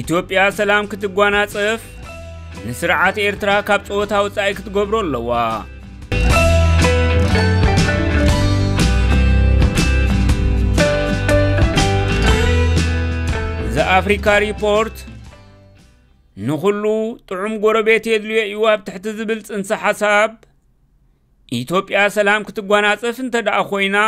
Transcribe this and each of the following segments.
ኢትዮጵያ ሰላም ክትጓናጸፍ ንስርዓት ኤርትራ ካብ ጸወታ ወጻኢ ክትገብሮ ኣለዋ። ዘ ኣፍሪካ ሪፖርት ንኹሉ ጥዑም ጎረቤት የድልዮ እዩ ኣብ ትሕቲ ዝብል ጽንሰ ሓሳብ፣ ኢትዮጵያ ሰላም ክትጓናጸፍ እንተ ደኣ ኮይና፣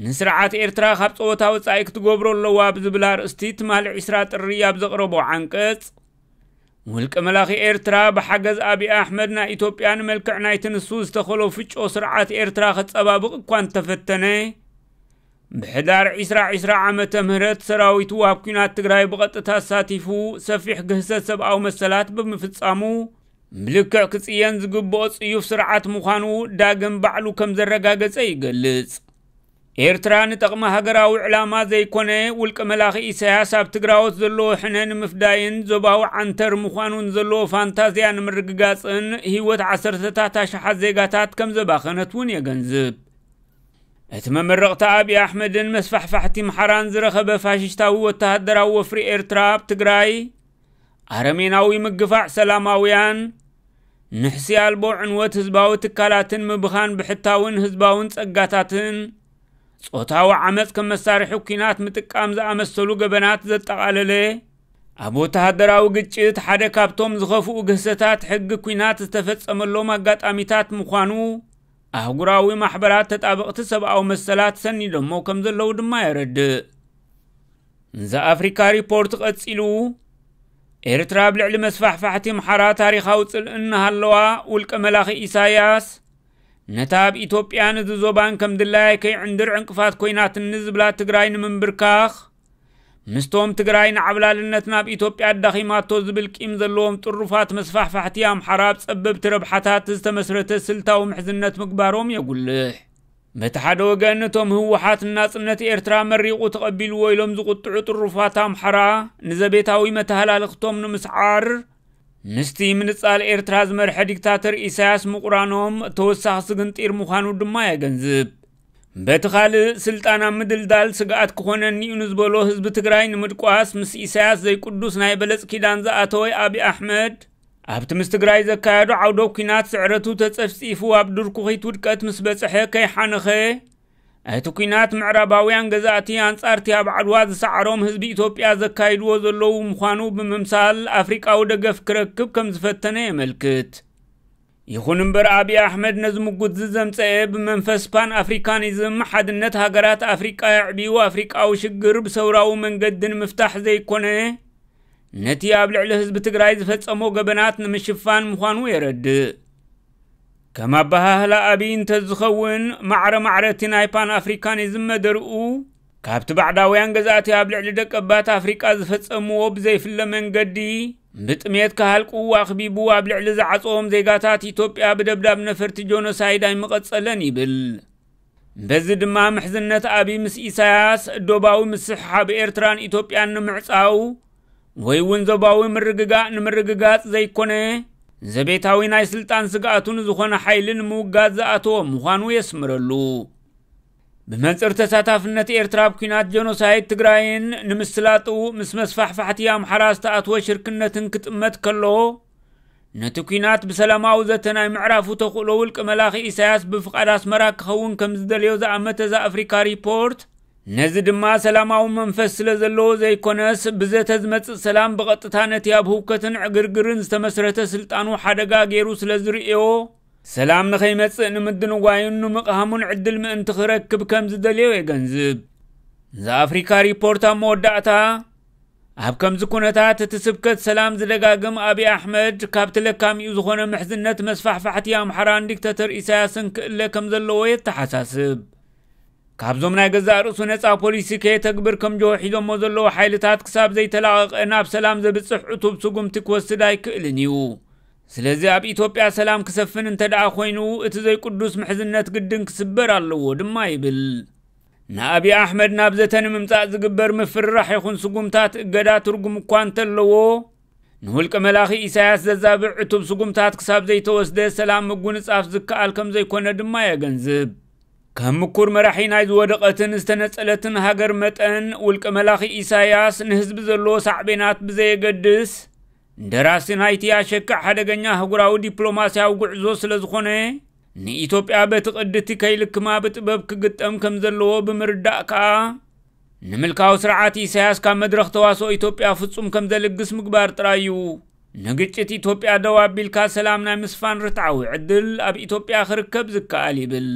ንስርዓት ኤርትራ ካብ ጸወታ ወጻኢ ክትገብሮ ኣለዋ ብዝብል ኣርእስቲ ትማሊ ዕስራ ጥሪ ኣብ ዘቕረቦ ዓንቀጽ፣ ውልቀ መላኺ ኤርትራ ብሓገዝ ኣብይ ኣሕመድ ናይ ኢትዮጵያ ንመልክዕ ናይቲ ንሱ ዝተኸሎ ፍጮ ስርዓት ኤርትራ ከጸባብቕ እኳ እንተፈተነ፣ ብሕዳር ዕስራ ዕስራ ዓመተ ምህረት ሰራዊቱ ኣብ ኲናት ትግራይ ብቐጥታ ኣሳቲፉ ሰፊሕ ግህሰት ሰብኣዊ መሰላት ብምፍጻሙ፣ ብልክዕ ክጽየን ዝግብኦ ጽዩፍ ስርዓት ምዃኑ ዳግም ባዕሉ ከም ዘረጋገጸ ይገልጽ። ኤርትራ ንጠቕሚ ሃገራዊ ዕላማ ዘይኮነ፣ ውልቀ መላኺ ኢሳያስ ኣብ ትግራዎት ዘለዎ ሕነ ንምፍዳይን ዞባዊ ዓንተር ምዃኑን ዘለዎ ፋንታዝያ ንምርግጋጽን ህይወት ዓሰርተታት ኣሽሓት ዜጋታት ከም ዘባኸነት እውን የገንዝብ። እቲ መመረቕታ ኣብይ ኣሕመድን መስፋሕፋሕቲ ምሓራን ዝረኸበ ፋሽስታዊ ወተሃደራዊ ወፍሪ ኤርትራ ኣብ ትግራይ፣ ኣረሜናዊ ምግፋዕ ሰላማውያን፣ ንሕሲ ኣልቦ ዕንወት ህዝባዊ ትካላትን ምብኻን ብሕታውን ህዝባውን ጸጋታትን፣ ጾታዊ ዓመጽ ከም መሳርሒ ኲናት ምጥቃም ዝኣመሰሉ ገበናት ዘጠቓለለ፣ ኣብ ወተሃደራዊ ግጭት ሓደ ካብቶም ዝኸፍኡ ግህሰታት ሕጊ ኲናት ዝተፈጸመሎም ኣጋጣሚታት ምዃኑ ኣህጉራዊ ማሕበራት ተጣበቕቲ ሰብኣዊ መሰላት ሰኒዶሞ ከም ዘለዉ ድማ የረድእ። ዘ ኣፍሪካ ሪፖርት ቀጺሉ፣ ኤርትራ ኣብ ልዕሊ መስፋሕፋሕቲ ኣምሓራ ታሪኻዊ ጽልኢ እናሃለዋ፣ ውልቀ መላኺ ኢሳያስ ነታ ኣብ ኢትዮጵያን እዚ ዞባን ከም ድላያ ከይዕንድር ዕንቅፋት ኮይናትኒ ዝብላ ትግራይ ንምንብርካኽ፣ ምስቶም ትግራይ ንዓብላልነት ናብ ኢትዮጵያ ኣዳኺማቶ ዝብል ቂም ዘለዎም ጥሩፋት መስፋሕፋሕቲ ኣምሓራ ኣብ ጸበብቲ ረብሓታት ዝተመስረተ ስልታዊ ምሕዝነት ምግባሮም የጉልሕ። በቲ ሓደ ወገን፣ እቶም ህወሓት ናጽነት ኤርትራ መሪቑ ተቐቢልዎ ኢሎም ዝቑጥዑ ጥሩፋት ኣምሓራ፣ ንዘቤታዊ መተሃላልኽቶም ንምስዓር፣ ምስቲ ምንጻል ኤርትራ ዝመርሐ ዲክታተር ኢሳያስ ምቑራኖም ተወሳኺ ስግንጢር ምዃኑ ድማ የገንዝብ። በቲ ካልእ፣ ስልጣን ኣብ ምድልዳል ስግኣት ክኾነኒ እዩ ንዝበሎ ህዝቢ ትግራይ ንምድቋስ፣ ምስ ኢሳያስ ዘይቅዱስ ናይ በለጽ ኪዳን ዝኣተወ ኣብይ ኣሕመድ፣ ኣብቲ ምስ ትግራይ ዘካየዶ ዓውደ ኲናት ስዕረቱ ተጸፍጺፉ ኣብ ድርኩኺት ውድቀት ምስ በጽሐ ከይሓነኸ፣ እቲ ኲናት ምዕራባውያን ገዛእቲ ኣንጻርቲ ኣብ ዓድዋ ዝሰዓሮም ህዝቢ ኢትዮጵያ ዘካይድዎ ዘለዉ ምዃኑ ብምምሳል ኣፍሪቃዊ ደገፍ ክረክብ ከም ዝፈተነ የመልክት። ይኹን እምበር ኣብይ ኣሕመድ ነዚ ምጉት ዝዘምጸኤ ብመንፈስ ፓን ኣፍሪካኒዝም ሓድነት ሃገራት ኣፍሪቃ የዕብዩ ኣፍሪቃዊ ሽግር ብሰውራዊ መንገዲ ንምፍታሕ ዘይኮነ፣ ነቲ ኣብ ልዕሊ ህዝቢ ትግራይ ዝፈጸሞ ገበናት ንምሽፋን ምዃኑ የረድእ። ከም ኣበሃህላ ኣብይ እንተዝኸውን፣ ማዕረ ማዕረ እቲ ናይ ፓን ኣፍሪካኒዝም መደርኡ፣ ካብቲ ባዕዳውያን ገዛእቲ ኣብ ልዕሊ ደቀባት ኣፍሪቃ ዝፈጸምዎ ብዘይፍለ መንገዲ፣ ብጥሜት ክሃልቁ ኣኽቢቡ ኣብ ልዕሊ ዝዓጸዎም ዜጋታት ኢትዮጵያ ብደብዳብ ነፈርቲ ጆኖሳይድ ኣይምቐጸለን ይብል። በዚ ድማ ምሕዝነት ኣብይ ምስ ኢሳያስ፣ ዶባዊ ምስሕሓብ ኤርትራን ኢትዮጵያን ንምዕጻው፣ ወይ እውን ዞባዊ ምርግጋእ ንምርግጋጽ ዘይኮነ፣ ዘቤታዊ ናይ ስልጣን ስግኣቱ ንዝኾነ ሓይሊ ንምውጋድ ዝኣተወ ምዃኑ የስምረሉ። ብመንጽር ተሳታፍነት ኤርትራ ኣብ ኲናት ጀኖሳይድ ትግራይን ንምስላጡ ምስ መስፋሕፋሕቲ ኣምሓራ ዝተኣትወ ሽርክነትን ክጥመት ከሎ፣ ነቲ ኲናት ብሰላማዊ ዘተ ናይ ምዕራፉ ተኽእሎ ውልቀ መላኺ ኢሳያስ ብፍቓድ ኣስመራ ክኸውን ከም ዝደልዮ ዝኣመተ ዘ ኣፍሪካ ሪፖርት፣ ነዚ ድማ ሰላማዊ መንፈስ ስለ ዘለዎ ዘይኮነስ፣ ብዘተ ዝመጽእ ሰላም ብቐጥታ ነቲ ኣብ ህውከትን ዕግርግርን ዝተመስረተ ስልጣኑ ሓደጋ ገይሩ ስለ ዝርእዮ፣ ሰላም ንኸይመጽእ ንምድንጓዩን ንምቕሃሙን ዕድል ምእንቲ ክረክብ ከም ዝደልዮ የገንዝብ። ዘ ኣፍሪካ ሪፖርት ኣብ መወዳእታ፣ ኣብ ከምዚ ኩነታት እቲ ስብከት ሰላም ዝደጋግም ኣብይ ኣሕመድ፣ ካብቲ ለካሚኡ ዝኾነ ምሕዝነት መስፋሕፋሕቲ ኣምሓራን ዲክተተር ኢሳያስን ክእለ ከም ዘለዎ የተሓሳስብ። ካብዞም ናይ ገዛእ ርእሱ ነጻ ፖሊሲ ከየተግብር ከም ጆሆ ሒዞሞ ዘለዉ ሓይልታት ክሳብ ዘይተላቐቐ ናብ ሰላም ዘብጽሕ ዕቱብ ስጉምቲ ክወስድ ኣይክእልን እዩ። ስለዚ ኣብ ኢትዮጵያ ሰላም ክሰፍን እንተ ደኣ ኮይኑ፣ እቲ ዘይቅዱስ ምሕዝነት ግድን ክስበር ኣለዎ ድማ ይብል። ንኣብይ ኣሕመድ ናብ ዘተ ንምምጻእ ዝግበር ምፍርራሕ ይኹን ስጉምታት እገዳ ትርጉም እኳ እንተለዎ፣ ንውልቀ መላኺ ኢሳያስ ዘዛብዕ ዕቱብ ስጉምታት ክሳብ ዘይተወስደ ሰላም ምጉንጻፍ ዝከኣል ከም ዘይኮነ ድማ የገንዝብ። ከም ምኩር መራሒ ናይ ዝወደቐትን ዝተነጸለትን ሃገር መጠን፣ ውልቀ መላኺ ኢሳያስ ንህዝቢ ዘለዎ ሳዕቤናት ብዘየገድስ፣ ደራሲ ናይቲ ኣሸክዕ ሓደገኛ ኣህጉራዊ ዲፕሎማስያዊ ጉዕዞ ስለ ዝኾነ፣ ንኢትዮጵያ በቲ ቅድቲ ከይልክማ ብጥበብ ክግጠም ከም ዘለዎ ብምርዳእ ከኣ፣ ንምልካዊ ስርዓት ኢሳያስ ካብ መድረኽ ተዋስኦ ኢትዮጵያ ፍጹም ከም ዘልግስ ምግባር ጥራይ እዩ ንግጭት ኢትዮጵያ ደው ኣቢልካ ሰላም ናይ ምስፋን ርትዓዊ ዕድል ኣብ ኢትዮጵያ ክርከብ ዝከኣል ይብል።